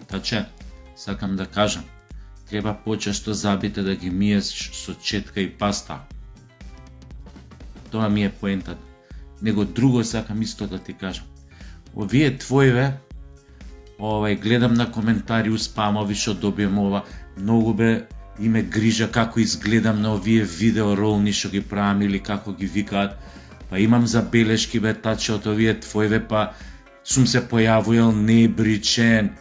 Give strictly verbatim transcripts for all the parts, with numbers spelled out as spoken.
Таче, сакам да кажам, треба почесто забите да ги миеш со четка и паста. Тоа ми е поентата. Него друго сакам исто да ти кажам. Овие твоиве, овај, гледам на коментари, успамови што добием ова, многу бе име грижа како изгледам на овие видеоролни што ги правам или како ги викаат. Па имам забелешки бе таче од овие твоиве, па сум се појавувал небричен,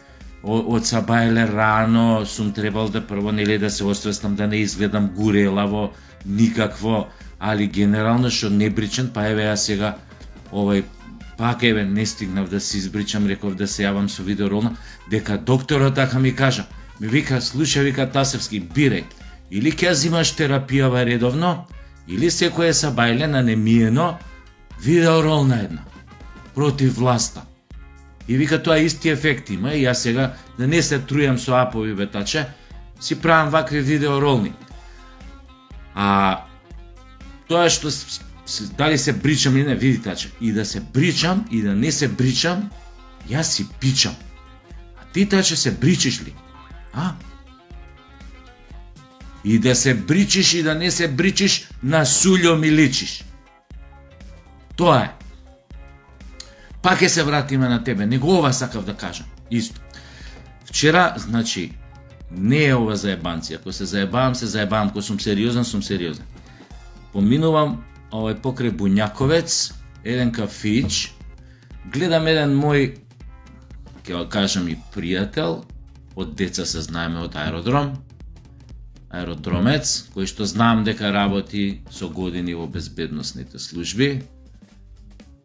од сабајле рано сум требал да прво нели да се освестам да не изгледам гурелаво, никакво, али генерално што небричен, па еве ја сега овај пак еве не стигнав да се избричам, реков да се јавам со видеоролна, дека докторот така ми кажа, ми вика, слушај, вика Тасевски, бирај, или ќе зимаш терапијава редовно, или секој сабајле на немиено видеоролна една против власта. И вика тоа исти ефект има и јас сега да не се трујам со апови бетаче, си правам вакви видеоролни. А тоа што дали се бричам или не, види таче, и да се бричам и да не се бричам, јас си пичам. А ти таче се бричиш ли? А? И да се бричиш и да не се бричиш, на сулјо ми личиш. Тоа е. Пак ќе се вратиме на тебе, него ова сакав да кажам. Исто. Вчера, значи, не е ова заебанци. Ако се заебавам, се заебавам. Ако сум сериозен, сум сериозен. Поминувам овај покрај Буњаковец, еден кафич, гледам еден мој, ќе кажам и пријател, од деца се знаеме од аеродром, аеродромец, кој што знам дека работи со години во безбедносните служби.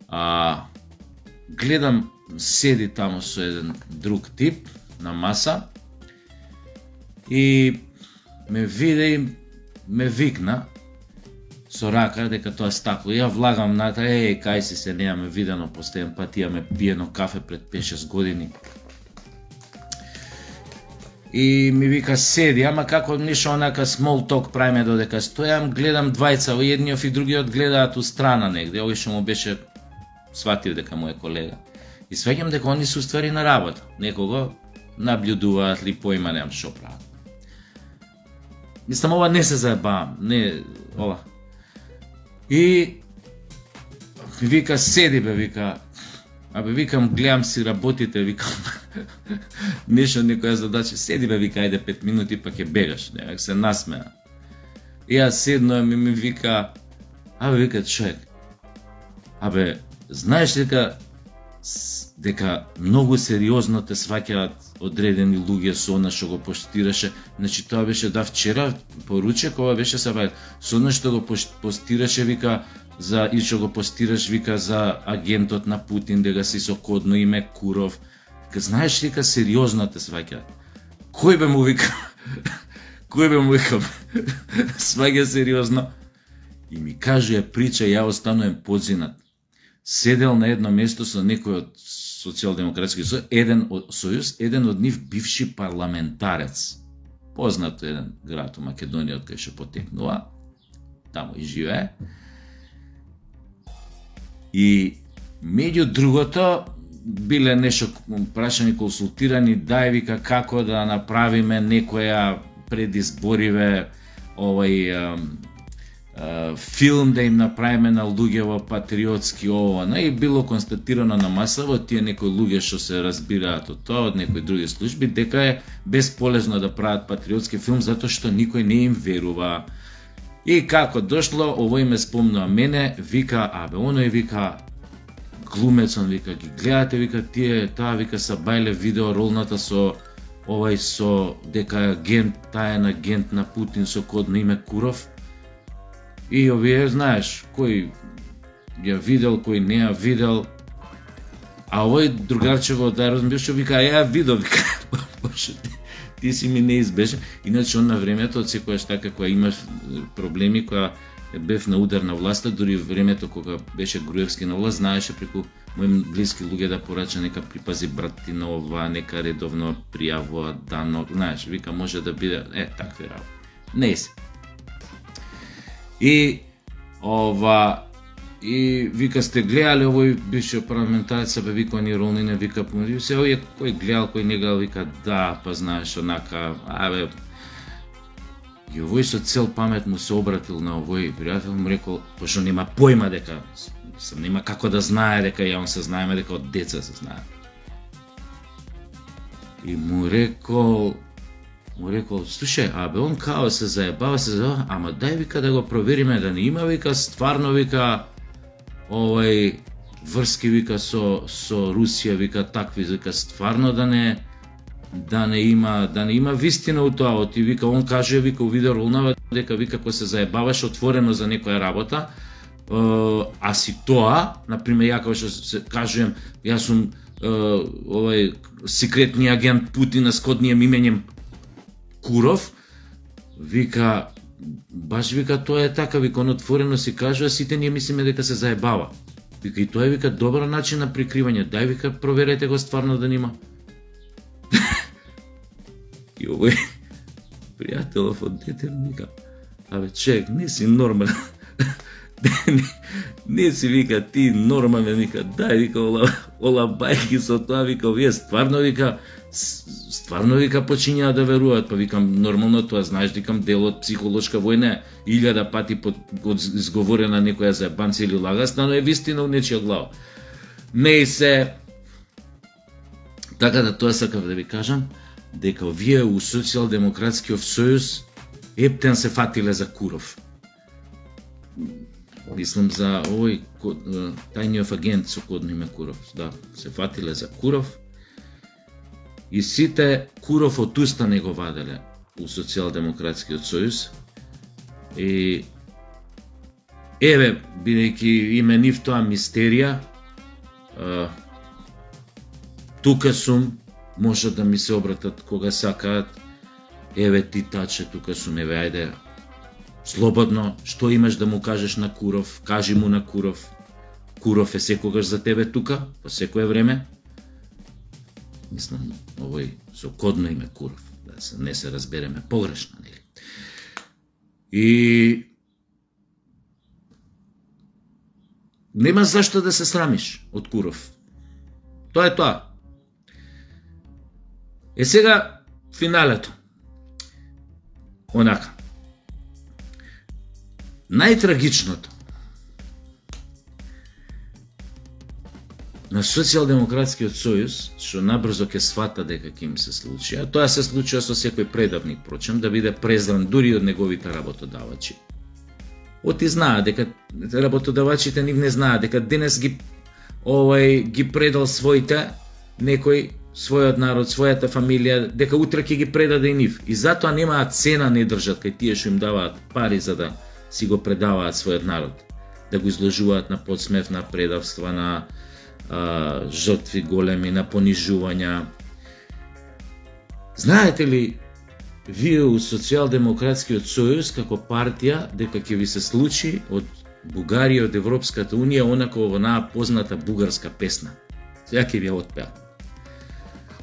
А, гледам, седи таму со еден друг тип на маса и ме виде и ме викна со рака дека тоа стакло. Ја влагам на та, еј, кај си се, неаме видено последен пат, имаме пиено кафе пред пет-шест години. И ми вика, седи, ама како нешто онака small talk правиме додека стојам, гледам двајца, едниот и другиот гледаат у страна негде, овој што му беше сватив дека му е колега. И свеќам дека они се уствари на работа, некого наблюдуваат ли, поима немам што прават. Мислам, ова не се заебавам, не, ова. И ми вика, седи бе, вика, абе викам, гледам си работите, викам, нешто некоја задача, седи бе, вика, ајде пет минути па ќе бегаш, невек се насмеа. И јас седно и ми вика, абе вика човек, абе, знаеш дека дека многу сериозно те сваќаат одредени луѓе со она што го постираше, значи тоа беше да вчера поручек, ова беше сабај, со она што го постираше, вика, за и што го постираш, вика, за агентот на Путин, дека си со кодно име Куров. Ка знаеш дека сериозно те сваќаат. Кој бе му вика? Кој бе му вика? Сваќа сериозно. И ми кажува прича, ја останувам подзинат. Седел на едно место со некој од социјалдемократски сојуз, еден од сојуз, еден од нив бивши парламентарец. Познат еден град у Македонија од кај што потекнува. Таму и живее. И меѓу другото биле нешто прашани, консултирани, дај вика како да направиме некоја предизбориве овај а, а, филм да им направиме на луѓе во патриотски ова, и било констатирано на маса во тие некои луѓе што се разбираат од тоа, од некои други служби, дека е бесполезно да прават патриотски филм затоа што никој не им верува. И како дошло, овој ме спомнува мене, вика, абе, оној вика, глумецон, вика, ги гледате, вика, тие, таа, вика, са бајле видеоролната со, овај со, дека агент, таен агент на Путин со кодно име Куров. И овие, знаеш, кој ја видел, кој не ја видел, а овој другарчево од аеродром беше, вика, ја видел, вика, ти си ми неизбежен. Иначе он на времето, од секојаш така, кога имаш проблеми, кога бев на удар на власта, дури времето кога беше Груевски на власт, знаеше преку мои блиски луѓе да порача нека припази брати на ова, нека редовно пријавува дано, знаеш, вика, може да биде, е, такви работи. Не се. И ова, И вика, сте гледали овој бившиот парламентарец, бе вика они Ролнине, вика, се овој кој гледал, кој не гледал, вика, да, па знаеш, онака, абе. И овој со цел памет му се обратил на овој пријател, му рекол, пошто нема појма дека, нема како да знае дека ја он се знаеме, дека од деца се знае. И му рекол, му рекол, слушај, абе, он као се заебава, се заебава, ама дај, вика, да го провериме, да не има, вика, стварно, вика, овој врски, вика, со, со Русија, вика, такви, вика, стварно да не, да не има, да не има вистина у тоа, оти, вика, он каже, вика, у видео ролнава, дека, вика, кој се заебаваш отворено за некоја работа, а си тоа, например, ја како што се кажувам, јас сум овој секретни агент Путина с коднием именем Куров, вика, баш, вика, тоа е така, вика, он отворено си кажува, сите ние мислиме дека се заебава. Вика, и тоа е, вика, добар начин на прикривање, дај, вика, проверете го стварно да нема. И овој пријателов од дете вика, абе, чек, не си нормален. не, не си, вика, ти нормален, вика, дај, вика, ола, ола бајки со тоа, вика, овие стварно, вика, стварно, вика, почињаа да веруваат, па викам, нормално тоа, знаеш, викам, дел од психолошка војна, илјада пати под, изговорена некоја заебанца или лагасна, но е вистина у нечија глава. Не и се, така да тоа сакав да ви кажам, дека овие у Социјалдемократскиот сојуз ептен се фатиле за Куров. Мислам за овој тајниот агент со кодно име Куров, да, се фатиле за Куров. И сите Куров од уста не го ваделе у Социјалдемократскиот сојуз. И еве, бидејќи име нив тоа мистерија, тука сум, може да ми се обратат кога сакаат, еве ти таче, тука сум, еве, ајде, слободно, што имаш да му кажеш на Куров, кажи му на Куров. Куров е секогаш за тебе тука, по секое време. Мислам, овој со кодно име Куров, да се, не се разбереме погрешно, нели? И нема зашто да се срамиш од Куров. Тоа е тоа. Е сега финалето. Онака. Најтрагичното на Социјалдемократскиот сојуз, што набрзо ќе свата дека ќе им се случи, а тоа се случува со секој предавник, прочем, да биде презран дури од неговите работодавачи. Оти знаат дека работодавачите нив не знаат дека денес ги овој ги предал своите некој својот народ, својата фамилија, дека утре ќе ги предаде и нив. И затоа немаат цена, не држат кај тие што им даваат пари за да си го предаваат својот народ, да го изложуваат на подсмев, на предавства, на а, жртви големи, на понижувања. Знаете ли, вие у Социјалдемократскиот сојуз како партија дека ќе ви се случи од Бугарија, од Европската унија, онако онаа позната бугарска песна. Сега ќе ви ја отпеат.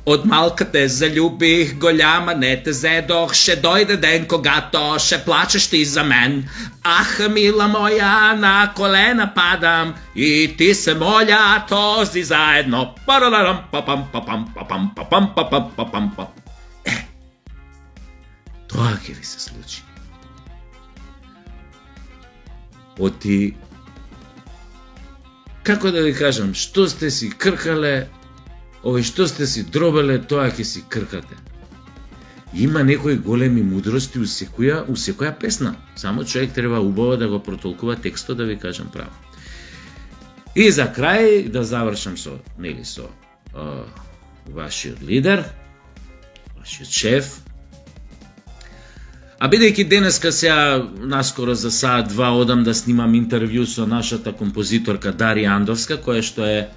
Од малка те залюбих, голяма не те зедох, ще дојде ден когато ще плачеш ти за мен. Ах, мила моја, на колена падам и ти се моля този заедно. Параларам, папам, папам, папам, папам, папам, папам, папам. Е, тоа ќе ви се случи. Оти, како да ви кажам, што сте си кркале, овој што сте си дробеле, тоа ќе си кркате. Има некои големи мудрости у секоја, у секоја песна. Само човек треба убаво да го протолкува текстот, да ви кажам право. И за крај да завршам со, нели, со а, вашиот лидер, вашиот шеф. А бидејќи денеска сега наскоро за саат два одам да снимам интервју со нашата композиторка Дарија Андовска, која што е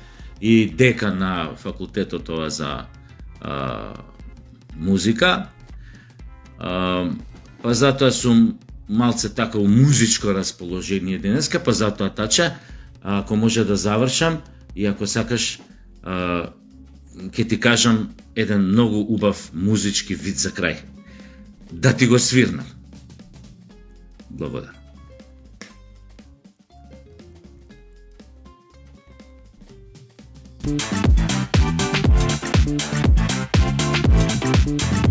и декан на факултетот ова за а, музика. А, па затоа сум малце така у музичко расположение денеска, па затоа тача, ако може да завршам и ако сакаш, а, ќе ти кажам еден многу убав музички вид за крај. Да ти го свирнам. Благодарам. Thank you.